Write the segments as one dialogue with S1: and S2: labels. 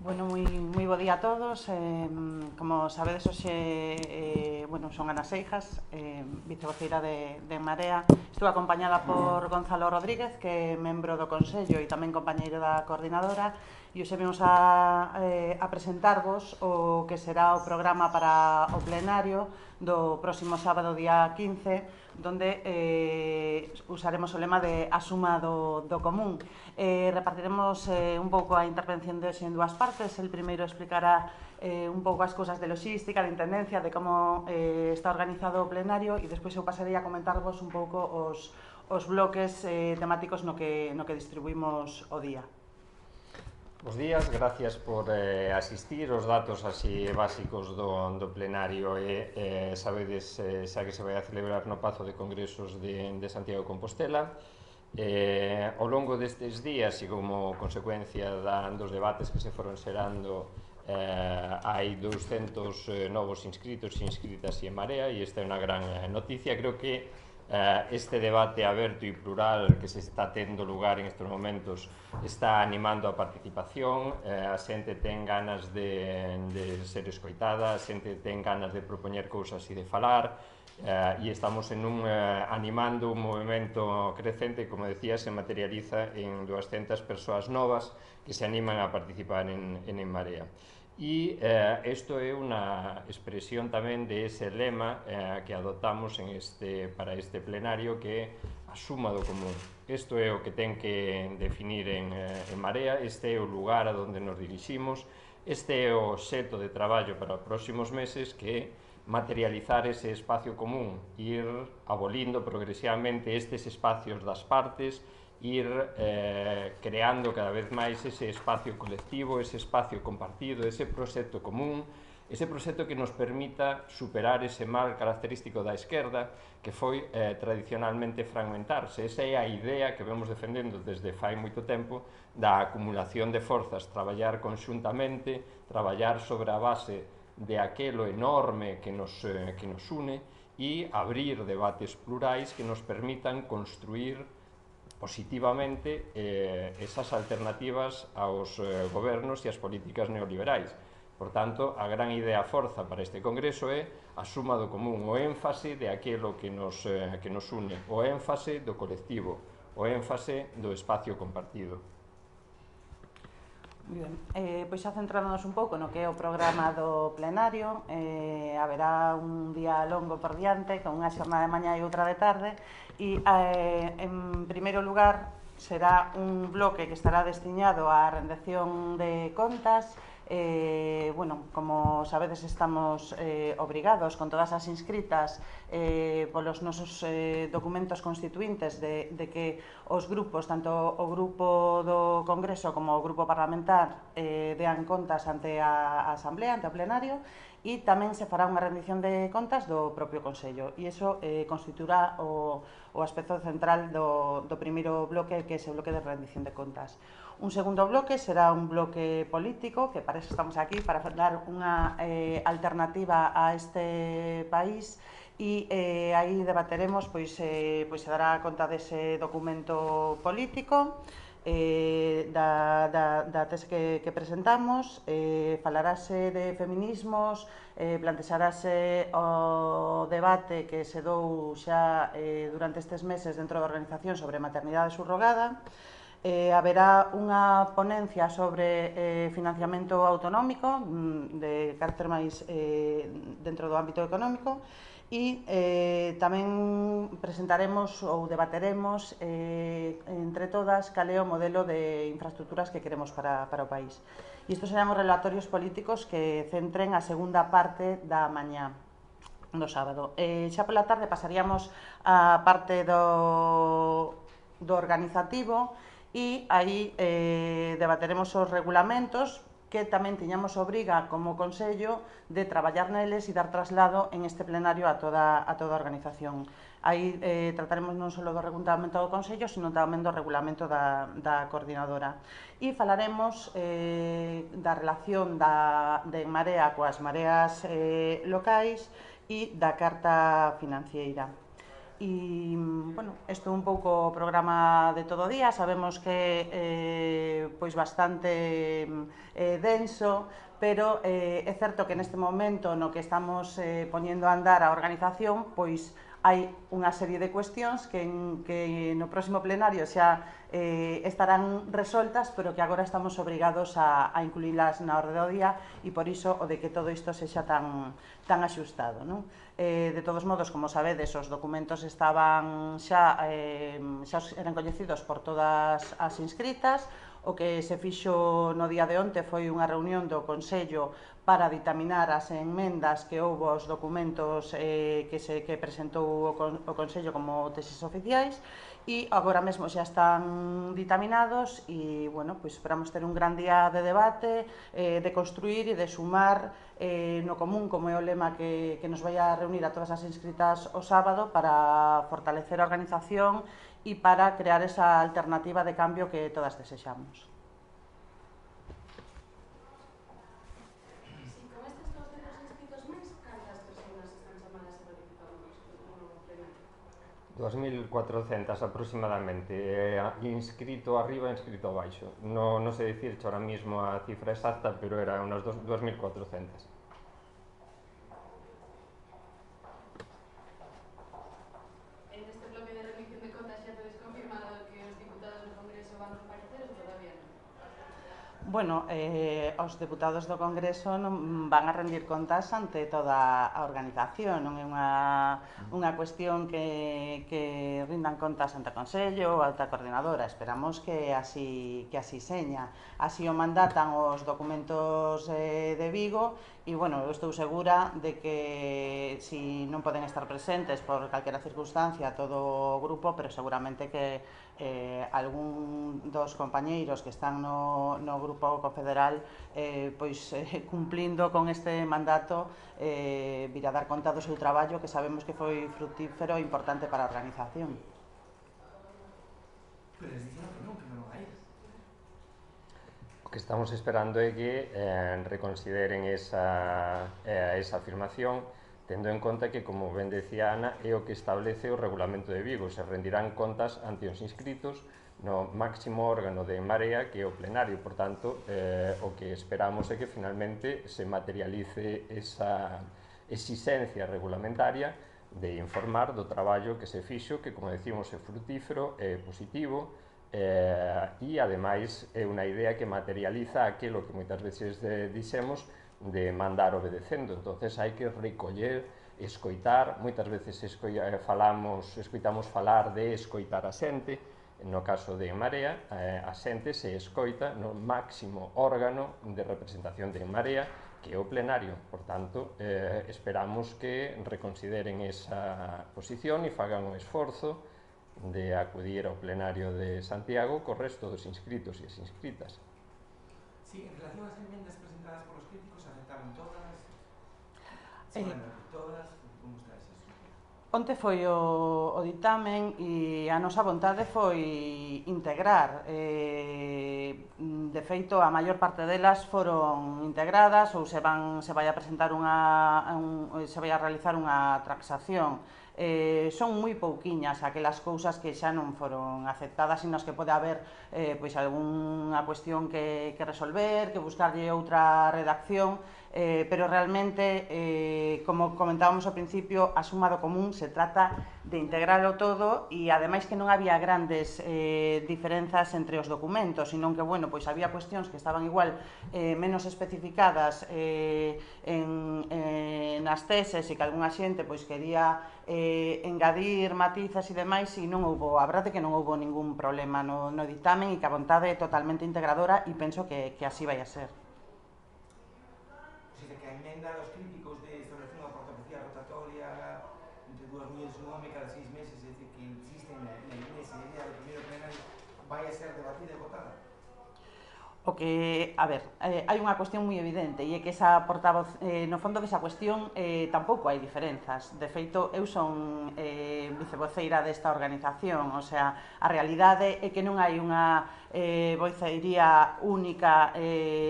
S1: Bueno, moi bo día a todos. Como sabedes, hoxe son Ana Seijas, vicevoceira de Marea. Estou acompañada por Gonzalo Rodríguez, que é membro do Consello e tamén compañeiro da coordinadora, e hoxe vimos a presentarvos o que será o programa para o plenario do próximo sábado, día 15, donde usaremos o lema de a suma do común. Repartiremos un pouco a intervención de hoxe en dúas partes. El primeiro explicará un pouco as cousas de logística, de intendencia, de como está organizado o plenario, e despois eu pasarei a comentarvos un pouco os bloques temáticos no que distribuímos o día.
S2: Bos días, gracias por asistir. Os datos así básicos do plenario sabedes xa que se vai a celebrar no Pazo de Congresos de Santiago de Compostela. Ao longo destes días e como consecuencia dos debates que se foron xerando, hai 200 novos inscritos e inscritas en Marea, e esta é unha gran noticia. Creo que este debate aberto e plural que se está tendo lugar en estes momentos está animando a participación. A xente ten ganas de ser escoitada, a xente ten ganas de propoñer cousas e de falar, e estamos animando un movimento crecente. Como decía, se materializa en 200 persoas novas que se animan a participar en Marea. E isto é unha expresión tamén de ese lema que adoptamos para este plenario, que é a suma do común. Isto é o que ten que definir en Marea, este é o lugar a donde nos diriximos, este é o xeto de traballo para os próximos meses, que é materializar ese espacio común, ir abolindo progresivamente estes espacios das partes, ir creando cada vez máis ese espacio colectivo, ese espacio compartido, ese proxecto común, ese proxecto que nos permita superar ese mal característico da esquerda, que foi tradicionalmente fragmentarse. Esa é a idea que vemos defendendo desde fai moito tempo, da acumulación de forzas, traballar conxuntamente, traballar sobre a base de aquelo enorme que nos une, e abrir debates plurais que nos permitan construir positivamente esas alternativas aos gobernos e as políticas neoliberais. Por tanto, a gran idea forza para este Congreso é a suma do común, o énfase de aquilo que nos une, o énfase do colectivo, o énfase do espacio compartido.
S1: Ben, pois xa centrándonos un pouco no que é o programa do plenario, haberá un día longo por diante, con unha xornada de mañá e outra de tarde, e en primeiro lugar será un bloque que estará destiñado á rendición de contas. Como sabedes, estamos obrigados con todas as inscritas polos nosos documentos constituintes de que os grupos, tanto o grupo do Congreso como o grupo parlamentar, dean contas ante a Asamblea, ante o plenario, e tamén se fará unha rendición de contas do propio Consello, e iso constituirá o aspecto central do primeiro bloque, que é ese bloque de rendición de contas. Un segundo bloque será un bloque político, que para eso estamos aquí, para dar unha alternativa a este país, e aí debateremos, se dará conta dese documento político, da tese que presentamos, falarase de feminismos, plantexarase o debate que se dou xa durante estes meses dentro da organización sobre maternidade subrogada. Haberá unha ponencia sobre financiamento autonómico de carácter máis dentro do ámbito económico, e tamén presentaremos ou debateremos entre todas cal é o modelo de infraestructuras que queremos para o país. E estes serán os relatorios políticos que centren a segunda parte da mañá do sábado. Xa pola tarde pasaríamos á parte do organizativo, e aí debateremos os regulamentos que tamén tiñamos obriga como Consello de traballar neles e dar traslado en este plenario a toda a organización. Aí trataremos non só do regulamento do Consello, sino tamén do regulamento da coordinadora. E falaremos da relación de Marea coas mareas locais e da carta financiera. E, bueno, isto é un pouco o programa de todo o día. Sabemos que pois bastante denso, pero é certo que neste momento no que estamos poñendo a andar a organización, pois hai unha serie de cuestións que no próximo plenario xa estarán resoltas, pero que agora estamos obrigados a incluílas na orde do día, e por iso o de que todo isto sexa tan axustado, non? De todos modos, como sabedes, os documentos estaban xa eran coñecidos por todas as inscritas. O que se fixo no día de onte foi unha reunión do Consello para ditaminar as enmendas que houbo aos documentos que presentou o Consello como teses oficiais, e agora mesmo xa están ditaminados e, bueno, pois esperamos ter un gran día de debate, de construir e de sumar no común, como é o lema que nos vai a reunir a todas as inscritas o sábado, para fortalecer a organización e para crear esa alternativa de cambio que todas desexamos.
S3: Si con estes 200 inscritos máis, cantas persoas están chamadas a participar no plenario?
S2: 2.400 aproximadamente, inscrito arriba e inscrito abaixo. Non sei dicirche ahora mismo a cifra exacta, pero era unas 2.400.
S3: En este bloque de rendición de contas xa tedes confirmado que os diputados do Congreso van comparecer ou todavía non?
S1: Bueno, os deputados do Congreso non van a rendir contas ante toda a organización, non é unha cuestión que rindan contas ante o Consello ou ante a coordinadora. Esperamos que así seña. Así o mandatan os documentos de Vigo, e, bueno, eu estou segura de que si non poden estar presentes por calquera circunstancia todo o grupo, pero seguramente que algún dos compañeiros que están no grupo confederal pois cumplindo con este mandato vir a dar conta do seu traballo, que sabemos que foi fructífero e importante para a organización.
S4: Pero les dixeron que non vai ir.
S2: O que estamos esperando é que reconsideren esa afirmación, tendo en conta que, como ben decía Ana, é o que establece o Regulamento de Vigo. Se rendirán contas ante os inscritos no máximo órgano de En Marea, que é o plenario. Por tanto, o que esperamos é que finalmente se materialice esa exigencia regulamentaria de informar do traballo que se fixo, que, como decimos, é frutífero, é positivo, e, ademais, é unha idea que materializa aquilo que moitas veces dixemos de mandar obedecendo. Entonces hai que recoller, escoitar. Moitas veces escoitamos falar de escoitar a xente. No caso de En Marea, a xente se escoita no máximo órgano de representación de En Marea, que é o plenario. Por tanto, esperamos que reconsideren esa posición e fagan o esforzo de acudir ao plenario de Santiago co resto dos inscritos e as inscritas.
S4: Sí, en relación ás enmendas presentadas por los críticos, ¿aceptaron todas? ¿Todas? ¿Cómo está esa estructura?
S1: Onte foi o ditamen e a nosa vontade foi integrar. De feito, a maior parte delas foron integradas ou se vai a presentar se vai a realizar unha transacción. Son moi pouquiñas aquelas cousas que xa non foron aceptadas e nas que pode haber pois algunha cuestión que resolver, que buscarlle outra redacción, pero realmente, como comentábamos ao principio, a suma do común se trata de integralo todo, e ademais que non había grandes diferenzas entre os documentos, senón que, bueno, pois había cuestións que estaban igual menos especificadas nas teses, e que algunha xente pois quería engadir matizas e demais, e non houbo, a verdade que non houbo ningún problema no dictamen, e que a vontade é totalmente integradora, e penso que así vai a ser.
S4: O sea, que a enmenda dos críticos de establecer unha portavocía rotatoria entre dúas mulleres e un home cada 6 meses, é dicir, que insisten nesa idea do primeiro plenario, vai a ser debatida e votada?
S1: O O que, a ver, hai unha cuestión moi evidente e é que esa portavoz, no fondo que esa cuestión tampouco hai diferenzas. De feito, eu son vicevoceira desta organización, o sea, a realidade é que non hai unha vocería única,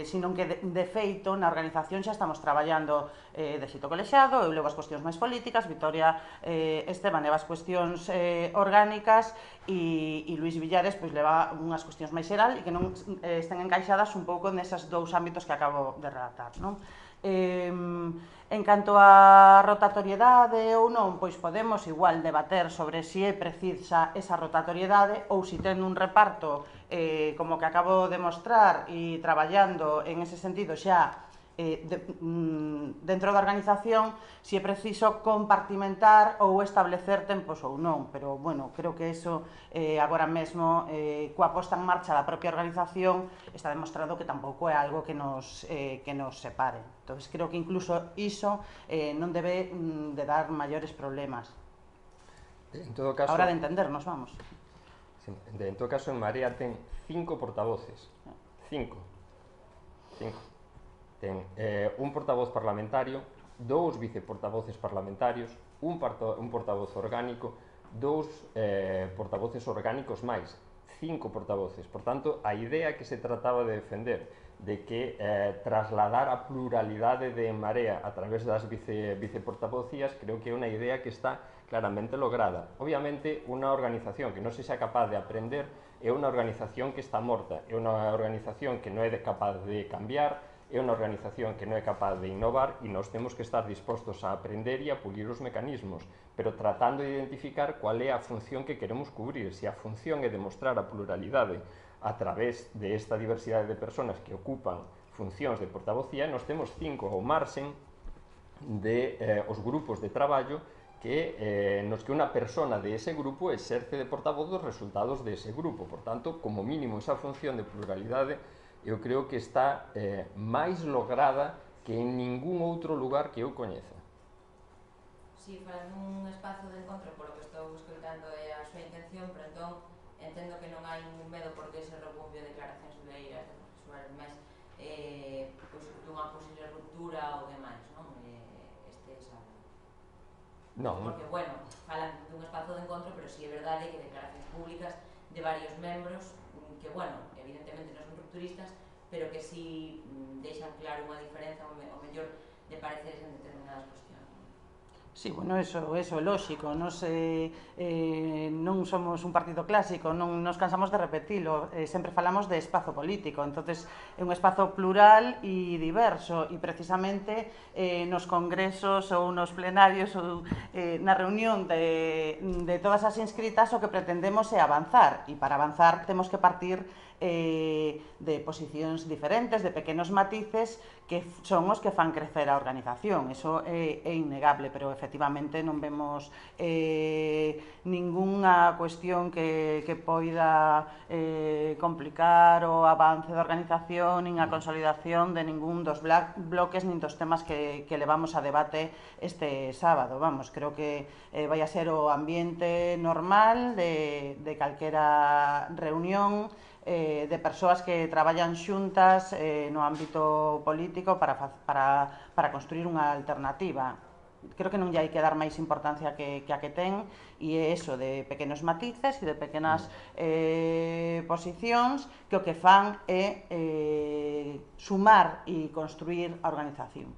S1: sino que de feito na organización xa estamos traballando de xeito colexiado. Eu levo as cuestións máis políticas, Victoria Esteban leva as cuestións orgánicas e Luís Villares pois leva unhas cuestións máis xeral e que non estén encaixadas un pouco neses dous ámbitos que acabo de relatar, non? En canto á rotatoriedade ou non, pois podemos igual debater sobre se é precisa esa rotatoriedade ou se ten un reparto como que acabo de mostrar e traballando en ese sentido xa dentro da organización, se é preciso compartimentar ou establecer tempos ou non, pero, bueno, creo que eso agora mesmo, coa posta en marcha da propia organización, está demostrado que tampouco é algo que nos separe. Entón, creo que incluso iso non debe de dar maiores problemas.
S2: En todo caso,
S1: a hora de entendernos, vamos.
S2: En todo caso, en Marea ten 5 portavoces. 5. Ten un portavoz parlamentario, 2 viceportavoces parlamentarios, un portavoz orgánico, 2 portavoces orgánicos máis, 5 portavoces. Por tanto, a idea que se trataba de defender de que trasladar a pluralidade de Marea a través das viceportavocías, creo que é unha idea que está claramente lograda. Obviamente, unha organización que non se xa capaz de aprender é unha organización que está morta, é unha organización que non é capaz de cambiar, é unha organización que non é capaz de innovar e nós temos que estar dispostos a aprender e a pulir os mecanismos, pero tratando de identificar cual é a función que queremos cubrir. Se a función é demostrar a pluralidade a través de esta diversidade de persoas que ocupan funcións de portavocía, nós temos 5 ao marxen de os grupos de traballo nos que unha persona de ese grupo exerce de portavoz dos resultados de ese grupo. Por tanto, como mínimo, esa función de pluralidade eu creo que está máis lograda que en ningún outro lugar que eu coñeza.
S5: Si, para un espazo de encontro, polo que estou escoitando é a súa intención, pero entón entendo que non hai ningún medo porque ese rebumbio de declaracións soleiras de profesoras máis dunha posible ruptura ou demais, non? Este sábado.
S2: Non.
S5: Porque, bueno, falan dun espazo de encontro, pero si é verdade que declaracións públicas de varios membros que, bueno, evidentemente non son rupturistas, pero que si deixan claro unha diferenza o mellor de pareceres en determinadas cuestións.
S1: Sí, bueno, eso é lógico, non somos un partido clásico, non nos cansamos de repetilo, sempre falamos de espazo político, entonces é un espazo plural e diverso e precisamente nos congresos ou nos plenarios ou na reunión de todas as inscritas o que pretendemos é avanzar e para avanzar temos que partir de posicións diferentes, de pequenos matices que son os que fan crecer a organización. Eso é innegable, pero efectivamente non vemos ningunha cuestión que poida complicar o avance da organización nin a consolidación de ningún dos bloques nin dos temas que levamos a debate este sábado. Vamos, creo que vai a ser o ambiente normal de calquera reunión de persoas que traballan xuntas no ámbito político para construir unha alternativa. Creo que non lle hai que dar máis importancia que a que ten e é eso de pequenos matices e de pequenas posicións que o que fan é sumar e construir a organización.